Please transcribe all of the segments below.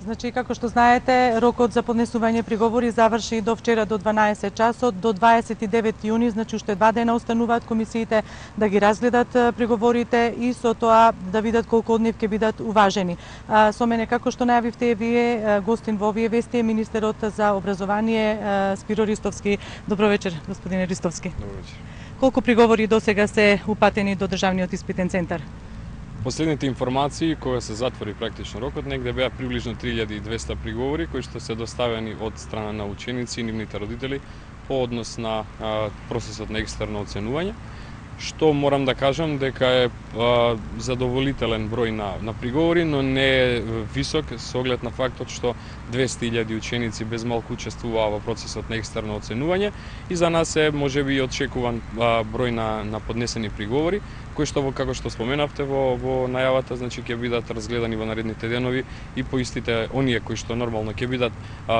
Значи, како што знаете, рокот за поднесување приговори заврши до вчера до 12 часот, до 29 јуни, значи уште 2 дена остануваат комисиите да ги разгледат приговорите и со тоа да видат колку од нив ќе бидат уважени. Со мене, како што најавивте вие, гостин во овие вести е министерот за образование Спиро Ристовски. Добро вечер, господине Ристовски. Добро вечер. Колку приговори досега се упатени до Државниот испитен центар? Последните информации, кога се затвори практично рокот, негде беа приближно 3200 приговори кои што се доставени од страна на ученици и нивните родители по однос на процесот на екстерно оценување, што морам да кажам дека е задоволителен број на приговори, но не е висок со оглед на фактот што 200.000 ученици без малку учествуваа во процесот на екстерно оценување и за нас е можеби очекуван број на поднесени приговори, кои што како што споменавте во најавата, значи ќе бидат разгледани во наредните денови и по истите оние кои што нормално ќе бидат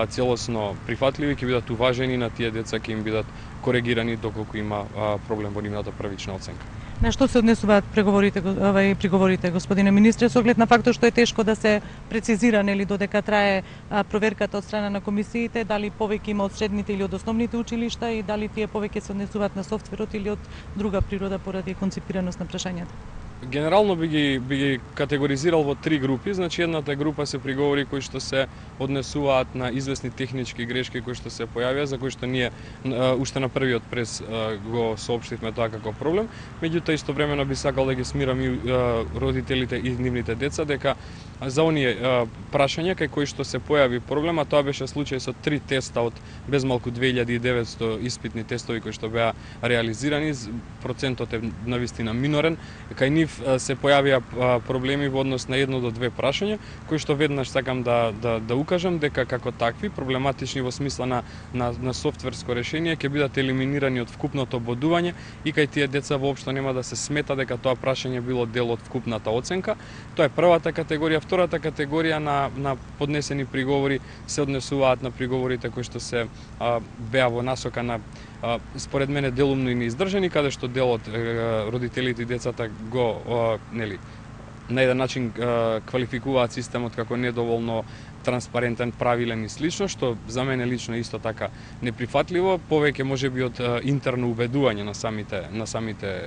целосно прифатливи, ќе бидат уважени, на тие деца ќе им бидат коригирани доколку има проблем во нивната првична оценка. На што се однесуваат приговорите, господине министре, со оглед на фактот што е тешко да се прецизира нели додека трае проверката од страна на комисиите, дали повеќе има од средните или од основните училишта и дали тие повеќе се однесуваат на софтверот или од друга природа поради концепираност на прашањата? Генерално би ги категоризирал во три групи, значи едната група се приговори кои што се однесуваат на известни технички грешки кои што се појавија, за кои што ние уште на првиот прес го соопштивме тоа како проблем, меѓутоа истовремено би сакал да ги смирам и родителите и нивните деца дека за оние прашања кај кои што се појави проблема, тоа беше случај со 3 теста од безмалку 2900 испитни тестови кои што беа реализирани, процентот е навистина минорен, кај нив се појавија проблеми во однос на 1 до 2 прашања, кои што веднаш сакам да укажам дека како такви проблематични во смисла на софтверско решение ќе бидат елиминирани од вкупното бодување и кај тие деца воопшто нема да се смета дека тоа прашање било дел од вкупната оценка. Тоа е првата категорија. Втората категорија на поднесени приговори се однесуваат на приговорите кои што се беа во насока на според мене делумно и неиздржани, каде што делот родителите и децата го на еден начин квалификуваат системот како недоволно транспарентен, правилен и слично, што за мене лично е исто така неприфатливо, повеќе можеби од интерно убедување на самите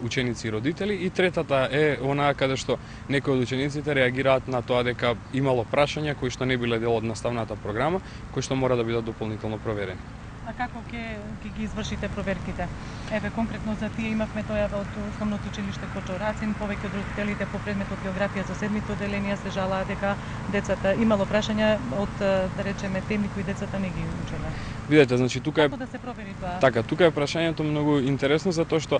ученици и родители. И третата е онаа каде што некои од учениците реагираат на тоа дека имало прашања кои што не биле дел од наставната програма, кои што мора да бидат дополнително проверени. А како ќе ги извршите проверките? Еве, конкретно за тие имавме тојава од основното училиште Кочо Рацин, повеќе од родителите по предметот географија за седмите оделенија се жалаа дека децата имало прашања од, да речеме, теми кои децата не ги учеле. Видете, значи тука е како да се провери тоа? Така, тука е прашањето многу интересно затоа што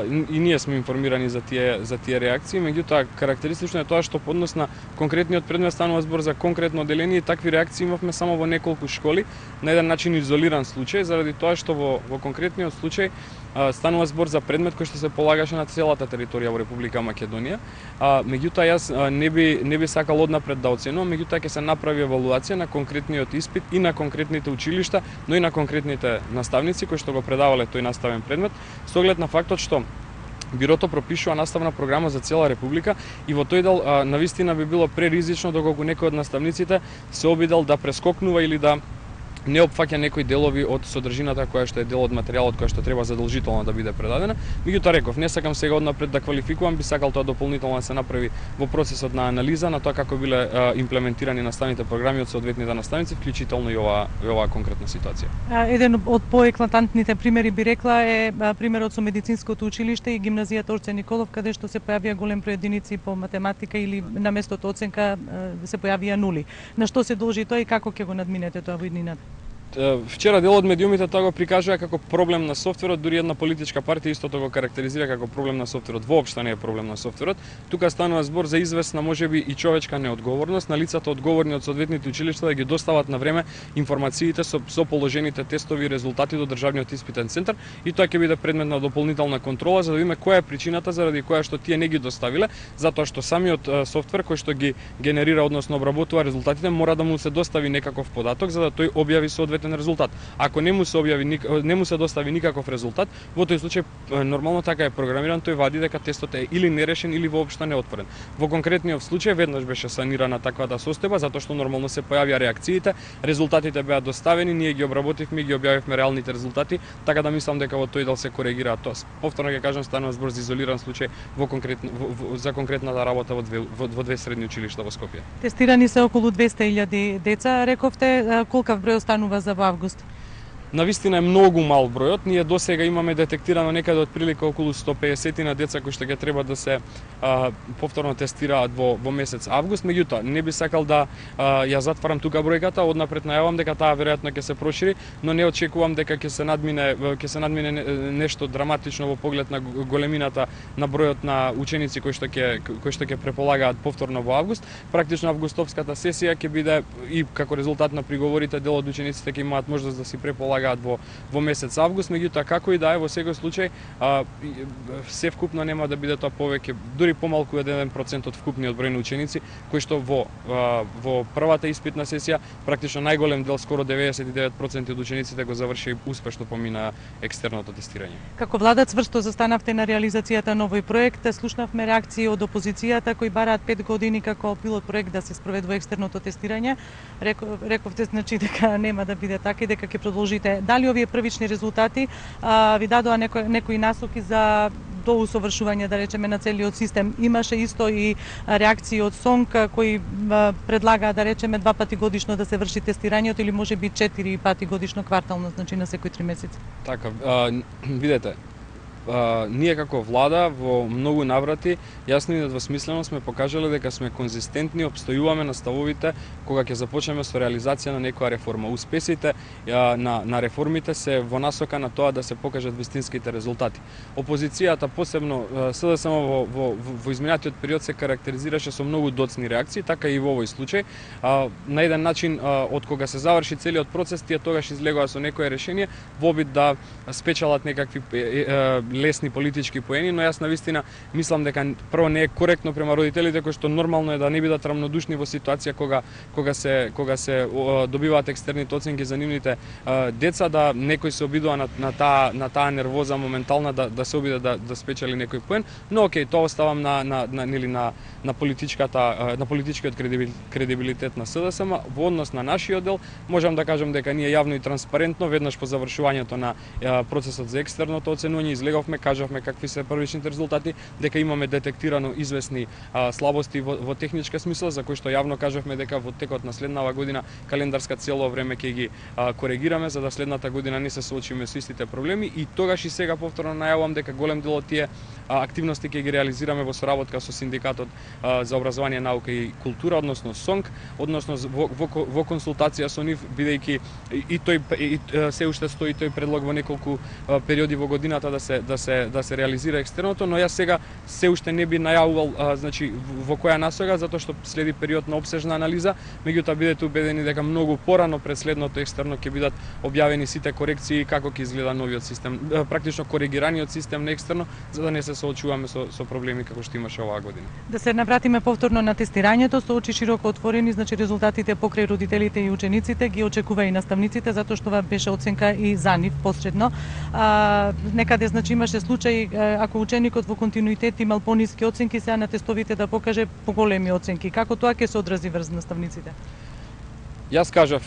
и ние сме информирани за тие реакции, меѓутоа карактеристично е тоа што по однос на конкретниот предмет станува збор за конкретно оделение и такви реакции имавме само во неколку школи, на еден начин изолиран случај, заради тоа што во конкретниот случај станува збор за предмет кој што се полагаше на целата територија во Република Македонија. Меѓутоа јас не би сакал однапред да оценувам, меѓутоа ќе се направи евалуација на конкретниот испит и на конкретните училишта, но и на конкретните наставници кои што го предавале тој наставен предмет, со оглед на фактот што Бирото пропишува наставна програма за цела Република и во тој дел навистина би било преризично доколку некој од наставниците се обидел да прескокнува или да не опфаќа некои делови од содржината која што е дел од материјалот која што треба задолжително да биде предадена. Меѓутоа реков, не сакам сега однапред да квалификувам, би сакал тоа дополнително да се направи во процесот на анализа на тоа како биле имплементирани наставните програми од соодветните наставници, вклучително и оваа конкретна ситуација. Еден од поеклатантните примери би рекла е примерот со медицинското училиште и гимназијата Орце Николов, каде што се појавија голем број единици по математика или на местото оценка се појавија нули. На што се должи тоа и како ќе го надминете тоа во иднината? Вчера дел од медиумите тоа го прикажува како проблем на софтверот, дури една политичка партија истото го карактеризира како проблем на софтверот. Воопшто не е проблем на софтверот. Тука станува збор за известна можеби и човечка неодговорност на лицата одговорни од соодветните училишта да ги достават на време информациите со положените тестови и резултати до Државниот испитен центар и тоа ќе биде предмет на дополнителна контрола за да видиме која е причината заради која што тие не ги доставиле, затоа што самиот софтвер кој што ги генерира односно обработува резултатите мора да му се достави некаков податок за да тој објави соодветно соодветен резултат. Ако не му се достави никаков резултат, во тој случај нормално така е програмиран, тој вади дека тестот е или нерешен или воопшто неотворен. Во конкретниот случај веднаш беше санирана таквата состојба затоа што нормално се појавија реакциите, резултатите беа доставени, ние ги обработивме и ги објавивме реалните резултати, така да мислам дека во тој дел се коригира тоа. Повторно ќе кажам, станува збор за изолиран случај за конкретната работа во две средни училишта во Скопје. Тестирани се околу 200.000 деца, рековте, колкав број останува за во август? Навистина е многу мал бројот. Ние досега имаме детектирано некаде од прилика околу 150 на деца кои што ќе треба да се повторно тестираат во месец август. Меѓутоа, не би сакал да ја затварам тука бројката, однапред најавам дека таа веројатно ќе се прошири, но не очекувам дека ќе се надмине нешто драматично во поглед на големината на бројот на ученици кои што ќе преполагаат повторно во август. Практично августовската сесија ќе биде и како резултат на приговорите дел од учениците ќе имаат можност да си преполагаат во месец август, меѓутоа како и да е, во секој случај се вкупно нема да биде тоа повеќе, дури помалку од 1% од вкупниот број на ученици кои што во првата испитна сесија практично најголем дел, скоро 99% од учениците го заврши успешно помина екстерното тестирање. Како влада цврсто застанавте на реализацијата на овој проект, слушнавме реакции од опозицијата кои бараат 5 години како пилот проект да се спроведува екстерното тестирање. Рековте значи дека нема да биде така и дека ќе продолжите. Дали овие првични резултати ви дадоа некои насоки за доусовршување, да речеме, на целиот систем? Имаше исто и реакции од СОНК кои предлагаа, да речеме, 2 пати годишно да се врши тестирањето или можеби 4 пати годишно квартално, значи на секои 3 месеци. Така, видете, ние како влада во многу наврати јасно и недвосмислено сме покажале дека сме конзистентни, обстојуваме на ставовите кога ќе започнеме со реализација на некоја реформа. Успесите на реформите се во насока на тоа да се покажат вистинските резултати. Опозицијата, посебно СДСМ во изминатиот период се карактеризираше со многу доцни реакции, така и во овој случај. На еден начин, од кога се заврши целиот процес, тие тогаш излегоа со некое решение во обид да спечелат некакви лесни политички поени, но јас навистина мислам дека прво не е коректно према родителите кои што нормално е да не бидат рамнодушни во ситуација кога се добиваат екстерните оценки за нивните деца, да некој се обидува на таа нервоза моментална да се обиде да спечели некој поен, но окей, тоа оставам на политичкиот кредибилитет на СДСМ. Во однос на нашиот дел можам да кажам дека ние јавно и транспарентно веднаш по завршувањето на процесот за екстерното оценување излеговме, кажавме какви се првичните резултати, дека имаме детектирано известни слабости во техничка смисла, за кои што јавно кажавме дека во текот на следнава година календарска цело време ќе ги коригираме за да следната година не се соочиме со истите проблеми, и тогаш и сега повторно најавувам дека голем дел од тие активности ќе ги реализираме во соработка со Синдикатот за образование, наука и култура, односно СОНК, односно во консултација со нив, бидејќи и тој се уште стои тој предлог во неколку периоди во годината да се реализира екстерното, но јас сега се уште не би најавувал значи во која насока, затоа што следи период на опсежна анализа, меѓутоа бидете убедени дека многу порано пред следното екстерно ќе бидат објавени сите корекции како ќе изгледа новиот систем, практично коригираниот систем на екстерно, за да не се соочуваме со проблеми како што имаше оваа година. Да се навратиме повторно на тестирањето, со очи широко отворени, значи резултатите покрај родителите и учениците ги очекува и наставниците, затоа што ова беше оценка и за нив посредно. Некаде значи имаше случај ако ученикот во континуитет имал пониски оценки, сега на тестовите да покаже поголеми оценки. Како тоа ќе се одрази врз наставниците? Јас кажав,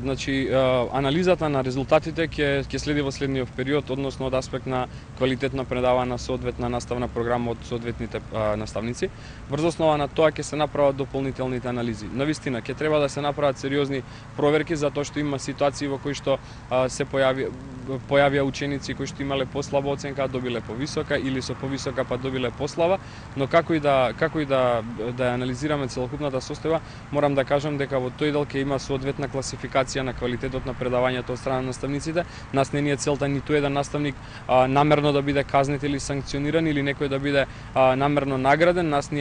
значи анализата на резултатите ќе следи во следниот период, односно од аспект на квалитетно предавана соодветна наставна програма од соодветните наставници. Врз основа на тоа ќе се направат дополнителните анализи. Навистина ќе треба да се направат сериозни проверки, затоа што има ситуации во кои што се појавија ученици кои што имале послаба оценка, добиле повисока, или со повисока па добиле послаба, но како и да анализираме целокупната состојба, морам да кажам дека во тој дел ќе има соодветна класификација на квалитетот на предавањето од страна на наставниците. Нас не ни е целта ниту еден наставник намерно да биде казнет или санкциониран или некој да биде намерно награден. Нас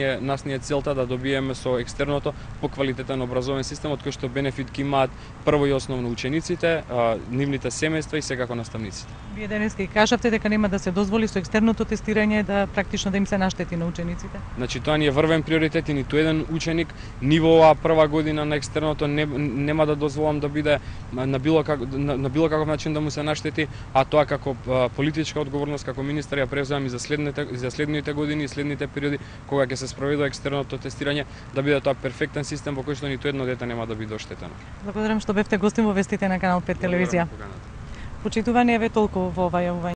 ни е целта да добиеме со екстерното по квалитетен образовен систем од кој што бенефит ќе имаат прво и основно учениците, нивните семејства и секако како наставниците. Вие денеска и кажавте дека нема да се дозволи со екстерното тестирање да практично да им се наштети на учениците. Значи тоа ни е врвен приоритет и ниту еден ученик ни во оваа прва година на екстерното нема да дозволам да биде на било каков начин да му се наштети, а тоа како политичка одговорност како министар ја преземам и за следните години и следните периоди кога ќе се спроведува екстерното тестирање, да биде тоа перфектен систем во кој што ниту едно дете нема да биде оштетено. Благодарам што бевте гостин во вестите на Канал 5 телевизија. Почитувани еве толку во оваа